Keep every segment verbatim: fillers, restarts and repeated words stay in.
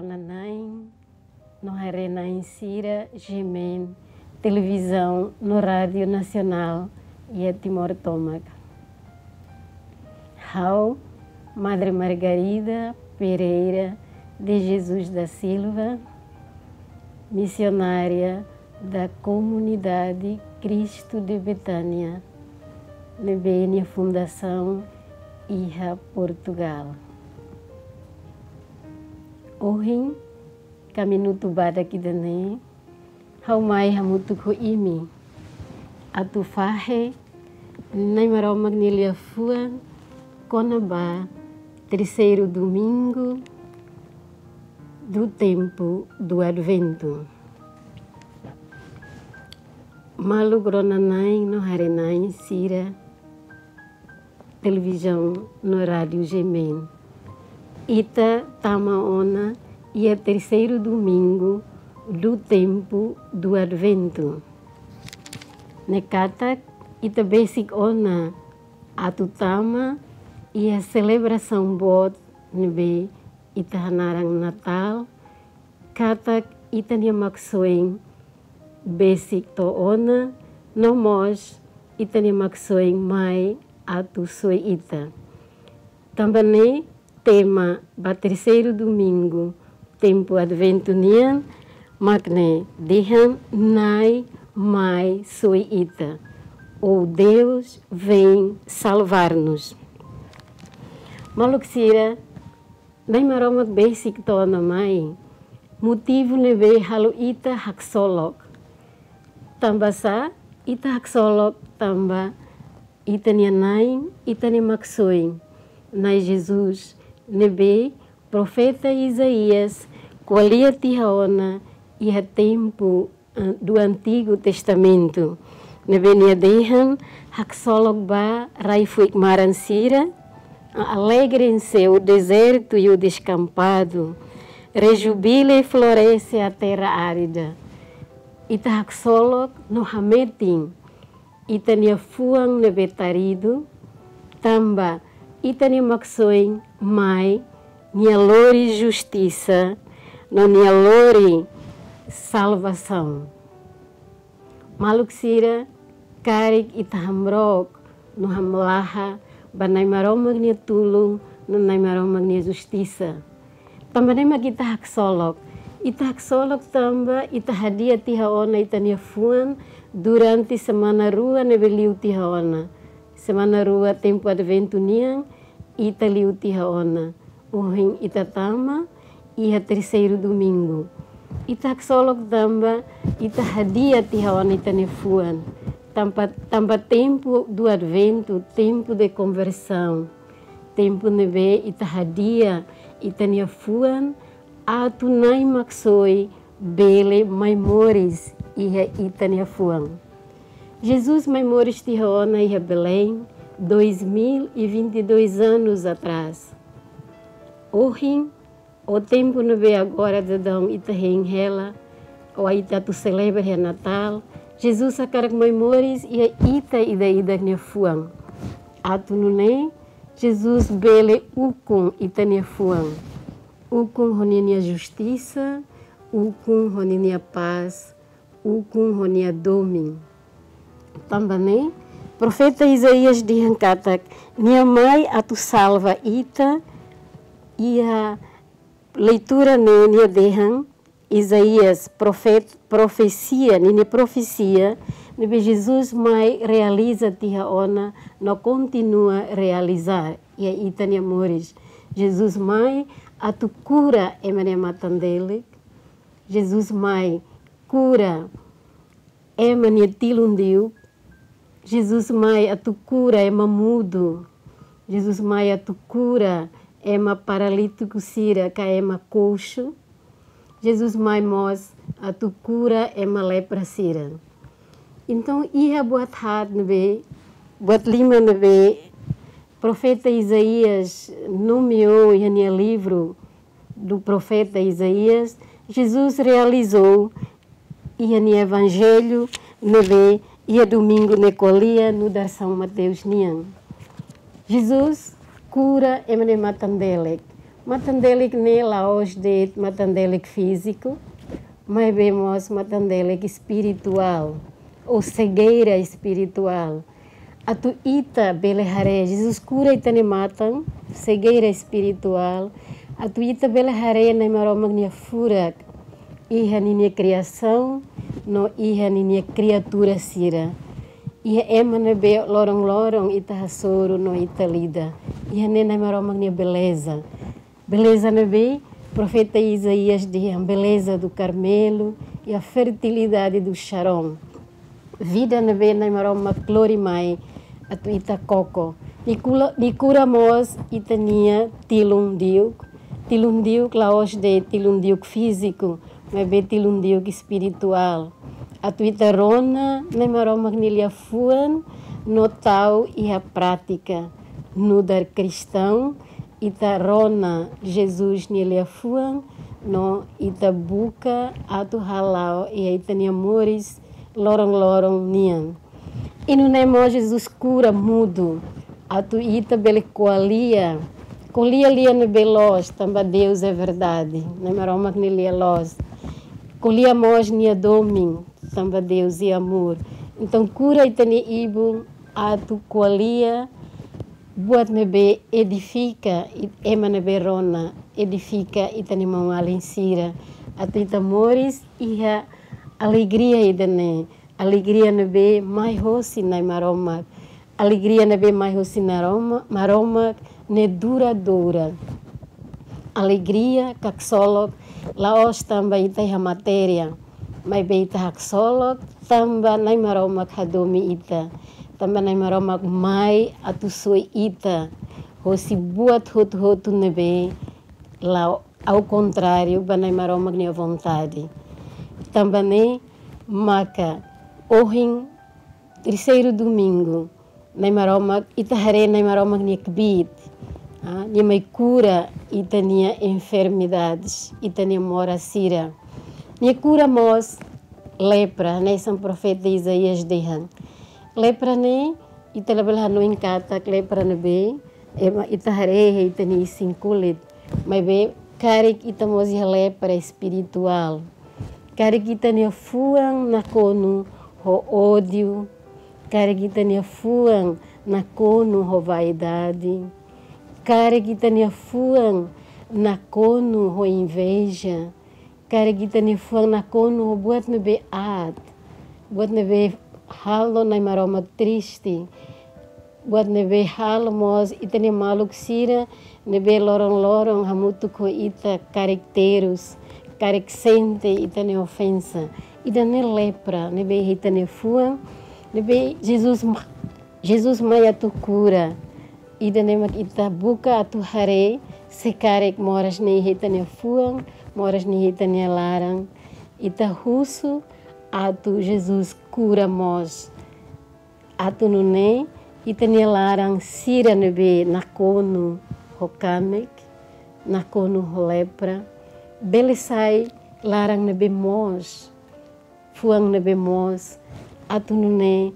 Nanain no haree-na'in sira GMN, Televizaun no Rádiu Nasionál iha Timor tomak. Ha'u, Madre Margarida Pereira de Jesus da Silva, missionária da Comunidade Cristo de Betânia, ne'ebé nia fundasaun iha Portugal. Ohin, ka minutu badak ida-ne'e, ha'u mai hamutuk ho imi atu fahe Na'i Maromak nia liafuan kona-ba terseiru domingu do tempo do Advento. Maluk rona-na'in no haree-na'in sira televizaun no rádiu GMN. Ita tama ona iha terseiru domingu do tempo do Advento. Ne'e katak ita besik ona atu tama iha selebrasaun boot ne'ebé ita hanaran Natál, katak ita-nia maksoin besik to'o ona, no mós ita-nia maksoin mai atu soi ita. Tanba ne'e tema ba terseiru domingu tempu Adventu nian mak ne'e dehan Na'i mai soi ita, ou Deus vem salvar-nos. Maluk sira, Na'i Maromak besik to'o ona mai, motivu ne'ebé halo ita haksolok. Tanba sá ita haksolok? Tanba ita-nia Na'i, ita-nia maksoin, Na'i Jesus, ne'ebé profeta Isaías ko'alia tiha ona iha tempu, eh, do Antigo Testamento, ne'ebé nia dehan: Haksolok bá, rai fuik-maran sira, alegre em seu deserto e o descampado, rejubile e floresce a terra árida. Ita haksolok no hametin ita-nia fuan ne'ebé taridu, tanba ita-nia maksoin mai, nia lori justisa, no nia lori salvasaun. Maluk sira, karik ita hamrook no hamlaha ba Na'i Maromak nia tulun no Na'i Maromak nia justisa. Tanba ne'e mak ita haksolok. Ita haksolok tanba ita hadi'a tiha ona ita-nia fuan durante semana rua ne'ebé liu tiha ona. Semana rua tempu Adventu nian, ita liu tiha ona. Ohin ita tama iha terseiru domingu. Ita haksolok tanba ita hadi'a tiha ona ita-nia fuan. Tanba, tanba tempu do Adventu, tempu de konversaun. Tempu ne'ebé ita hadi'a ita-nia fuan atu Na'i Maksoin bele mai moris iha ita-nia fuan. Jesus mai moris tiha ona iha Belém, dois mil e vinte e dois anos atrás. Ohin, ou tempu ne'ebé agora daudaun ita hein hela, ou ita atu selebra iha Natál, Jesus hakarak mai moris iha ita ida-idak nia fuan. Atu nune'e, Jesus bele ukun ita-nia fuan. Ukun ho ninia justisa, ukun ho ninia pás, ukun ho nia domin. Tanba ne'e, profeta Isaías dehan katak nia mai atu salva ita. Iha leitura ne'e nia dehan, Isaías profet-, profesia, ninia profesia ne'ebé Jesus mai realiza tiha ona no kontinua realiza iha ita-nia moris. Jesus mai atu kura ema nia matan-delek. Jesus mai kura ema nia tilun diuk. Jesus mai atu kura ema mudu. Jesus mai atu kura ema paralítiku sira ka ema koxu. Jesus mai mós atu kura ema lepra sira. Entaun, iha buat haat ne'ebé, buat lima ne'ebé profeta Isaías nomeou iha nia livru do profeta Isaías, Jesus realizou iha nia evanjellu ne'ebé iha domingu ne'e ko'alia nu'udar São Mateus nian. Jesus kura ema nia matan-delek. Matan-delik ne'e la'ós de'it matan-delik fíziku, maibé mós matan-delik espirituál, ou segeira espirituál. Atu ita bele haree, Jesus kura ita-nia matan, segeira espirituál, atu ita bele haree Nai Maromak nia furak iha ninia kriasaun no iha ninia kriatura sira. Iha ema ne'ebé loron-loron ita hasoru no ita lida. Iha ne'e Nai Maromak nia beleza. Beleza ne'ebé profeta Isaías dehan beleza do Carmelo e a fertilidade do Sharon. Vida ne'ebé Nai Maromak lori mai atu ita koko. Nia kula-, nia kura mós ita-nia tilun diuk. Tilun diuk la'ós de'it tilun diuk fíziku, maibé tilun diuk espirituál. Atu ita rona Nai Maromak nia liafuan no tau iha prátika. Nu'udar kristaun, ita rona Jesus nia liafuan no ita buka atu hala'o iha ita-nia moris loron-loron nian. I nune'e mós Jesus kura mudu, atu ita bele ko'alia. Ko'alia lia ne'ebé loos, tanba Deus é verdade. Nai Maromak nia lia loos. Ko'alia mós nia domin, tanba Deus é amor. Entaun, kura ita-nia ibun atu ko'alia buat ne'ebé edifika i-, ema ne'ebé rona, edifika ita-nia maun-alin sira. Atu ita moris iha alegria ida-ne'e, alegria ne'ebé mai hosi Nai Maromak. Alegria ne'ebé mai hosi Nai Roma-, Maromak ne'e duradoura. Alegria, haksolok, la'ós tanba ita iha matéria, maibé ita haksolok tanba Nai Maromak hadomi ita. Tanba Nai Maromak mai atu soi ita hosi buat hotu-hotu ne'ebé la'o ao kontráriu ba Nai Maromak nia vontade. Tanba ne'e maka ohin, terseiru domingu, Nai Maromak, ita haree Nai Maromak nia kbiit. Ah, nia mai kura ita-nia enfermidades, ita-nia moras sira. Nia kura mós lepra, hanesan profeta Isaías dehan. Lepra ne'e, ita labele hanoin katak lepra ne'ebé ema, ita haree iha ita-nia isin-kulit. Maibé karik ita mós iha lepra espirituál. Karik ita-nia fuan nakonu ho ódiu. Karik ita-nia fuan nakonu ho vaidade. Karik ita-nia fuan nakonu ho inveja. Karik ita-nia fuan nakonu ho buat ne'ebé aat. Buat ne'ebé halo Nai Maromak triste. Buat ne'ebé halo mós ita-nia maluk sira ne'ebé loron-loron hamutuk ho ita karik terus, karik sente ita-nia ofensa. Ida-ne'e lepra ne'ebé iha ita-nia fuan, ne'ebé Jesus ma-, Jesus mai atu kura. Ida-ne'e mak ita buka atu haree, se karik moras ne'e iha ita-nia fuan, moras ne'e iha ita-nia laran. Ita husu atu Jesus kura mós. Atu nune'e ita-nia laran sira ne'ebé nakonu ho kanek, nakonu ho lepra, bele sai laran ne'ebé moos, fuan ne'ebé moos. Atu nune'e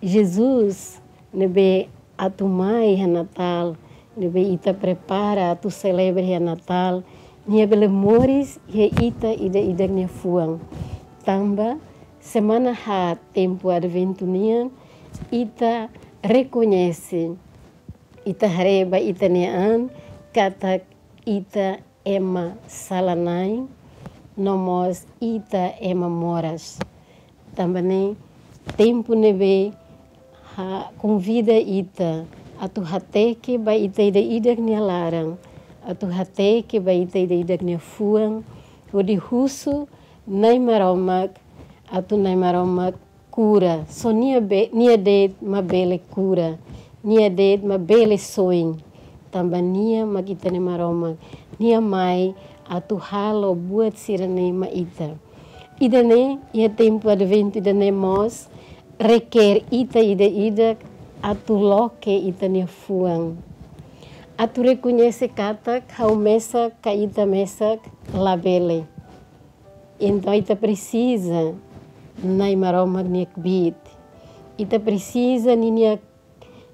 Jesus ne'ebé atu mai iha Natál, ne'ebé ita prepara atu selebra iha Natál, nia bele moris iha ita ida-idak nia fuan. Tanba semana haat tempu Adventu nian, ita rekoñese, ita haree ba ita-nia an katak ita ema sala-na'in, no mós ita ema moras. Tanba ne'e, tempu ne'ebé ha-, konvida ita atu hateke ba ita ida-idak nia laran, atu hateke ba ita ida-idak nia fuan, hodi husu Nai Maromak, atu Nai Maromak kura. Só nia be-, nia de'it mak bele kura, nia de'it mak bele soin. Tanba nia mak ita-nia Maromak, nia mai atu halo buat sira-ne'e mai ita. Ida-ne'e, iha tempu Adventu ida-ne'e mós, reker ita ida-idak atu loke ita-nia fuan. Atu rekoñese katak ha'u mesak ka ita mesak labele. Entaun ita presiza Nai Maromak nia kbiit. Ita presiza ninia,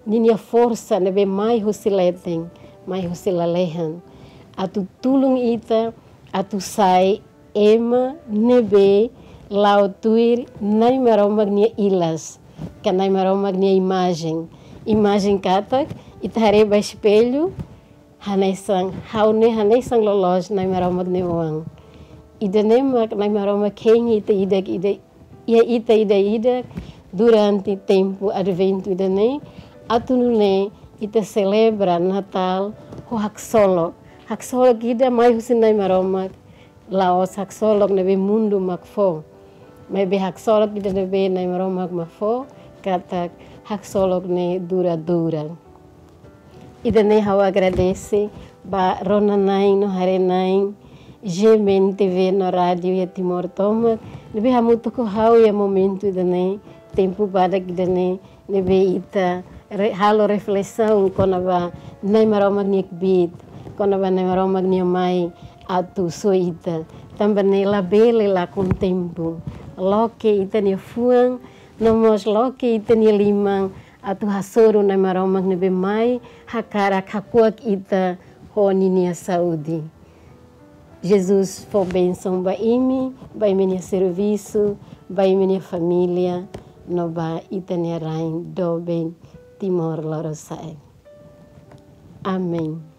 ninia forsa ne'ebé mai husi leten, mai husi lalehan. atu tulun ita atu sai ema ne'ebé la'o tuir Nai Maromak nia ilas, ka Nai Maromak nia imajen. Imajen katak ita haree ba espellu, hanesan, ha'u ne'e hanesan loloos Nai Maromak nia oan. Ida-ne'e mak Nai Maromak hein ita ida-idak, iha ita ida-idak durante tempu Adventu ida-ne'e, atu nune'e ita selebra Natál ho haksolok. Haksolok ida mai husi Nai Maromak, la'ós haksolok ne'ebé mundu mak fó. Maibé haksolok ida ne'ebé Nai Maromak mak fó, katak haksolok ne'e dura-dura. Ida-ne'e ha'u agradese ba rona-na'in no haree-na'in G M N T V no rádiu iha Timor tomak, ne'ebé hamutuk ho ha'u iha momentu ida-ne'e, tempu badak ida-ne'e, ne'ebé ita re-, halo reflesaun kona-ba Nai Maromak nia kbiit, kona-ba Nai Maromak nia mai atu soi ita. Tanba ne'e labele lakon tempu. Loke ita-nia fuan, no mós loke ita-nia liman, atu hasoru Nai Maromak ne'ebé mai hakarak hakuak ita ho ninia saúde. Jesus fó bensaun ba imi, ba imi-nia servisu, ba imi-nia família, no ba ita-nia rain doben Timor Lorosa'e. Amen.